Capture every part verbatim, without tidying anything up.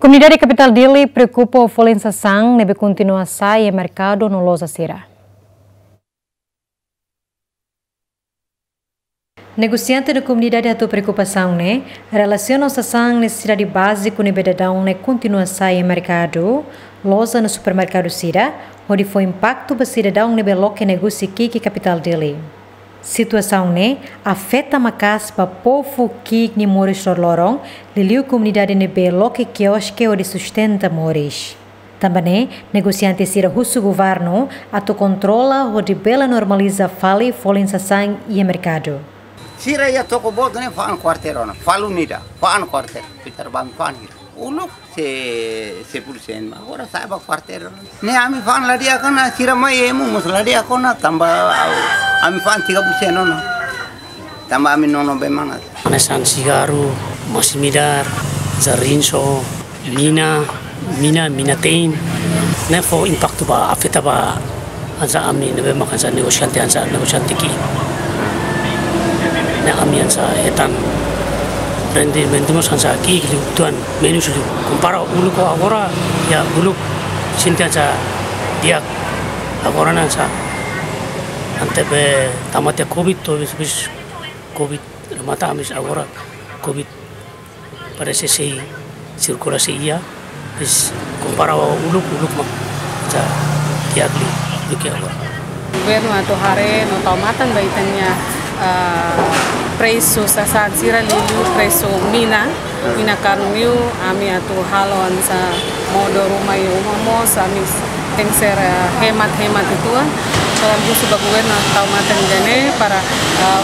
Komunidade kapitál Dili preokupa ho folin sasán ne'ebé kontinua sa'e iha merkadu no loja sira. Negosiante no komunidade hato'o preokupasaun ne'e relasiona ho sasán nesesidade báziku ne'ebé daudaun ne'e kontinua sa'e iha merkadu, loja no supermerkadu sira, hodi fó impaktu ba sidadaun ne'ebé loke negósiu ki'ik iha kapitál Dili. Situasaun ne'e afeta maka'as ba povu ki'ik nia moris loroloron, liuliu komunidade ne'ebé loke kioske hodi sustenta moris. Tanba ne'e, negosiante sira husu governu atu kontrola hodi bele normaliza fali folin sasán iha merkadu. Sira iha toko boot ne'e fa'an kuarteru ona, fali ida, fa'an kuarteru, fitar ba ami fa'an hira. Uluk se, sepuluh sen, agora sa'e ba kuarteru ona. Ne'e ami fa'an la di'ak ona, sira mai emu mós la di'ak ona, tanba ami fa'an tiga puluh sen ona. Tanba ami nono bee manas. Hanesan sigarru, masin-midar, hanesan rinso, mina, mina, mina-teen. Ne'e fó impaktu ba, afeta ba hanesan ami ne'ebé mak hanesan negosiante, hanesan negosiante ki'ik. Ne'e ami hanesan hetan rendimentu mós hanesan ki'ik liu uitoan, menus liu. Kompara uluk ho agora, ya uluk sente hanesan di'ak, agora ne'e hanesan ante be tama tiha covid, to'o bis, bis covid remata, ami agora covid parese sei sirkula sei iha, bis kompara ho uluk, uluk mak hanesan di'ak liu duké agora. Governu atu haree no tau matan ba ita-nia, ah, presu sasán sira liuliu presu mina, mina karun liu, ami atu halo hanesan modo ruma iha uma mós, ami tenke ser, eh, hemat-hemat uitoan. Entaun husu ba governu tau matan ida-ne'e para, eh,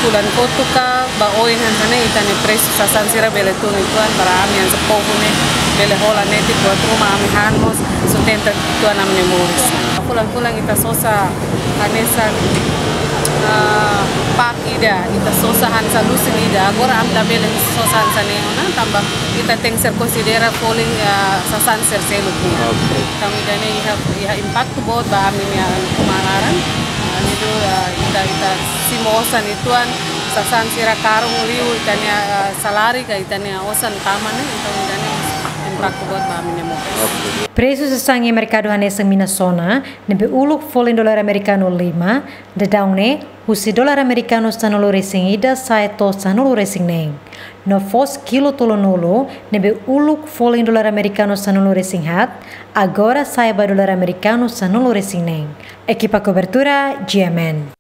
fulan kotuk ka ba oin hanesan ne'e ita-nia presu sasán sira bele tun uitoan para ami hanesan povu ne'e bele hola netik buat ruma, ami han mós sustenta uitoan ami-nia moris. Fulan-fulan ita sosa hanesan, eh, pak ida, ita sosa hanesan lusin ida. Agora ami labele sosa hanesan ne'e ona, tanba ita tenke ser konsidera folin, eh, sasán sira seluk nian. Oke. Entaun ida-ne'e iha, iha impaktu boot ba ami-nia uma laran. Ami du, eh, ita, ita simu osan uitoan, sasán sira karun liu, ita-nia, eh, saláriu ka ita-nia osan tama ne'e, entaun ida-ne'e impaktu boot ba ami-nia moris. Oke. Presu sasán iha merkadu hanesan mina sona, ne'ebé uluk folin dolar amerikanu lima, daudaun ne'e husi dolar amerikanu sanulu-resin-ida sa'e to'o sanulu-resin-neen. No foos kilu tolunulu, ne'ebé uluk folin dolar amerikanu sanulu-resin-haat, agora sa'e ba dolar amerikanu sanulu-resin-neen. Ekipa kobertura, G M N.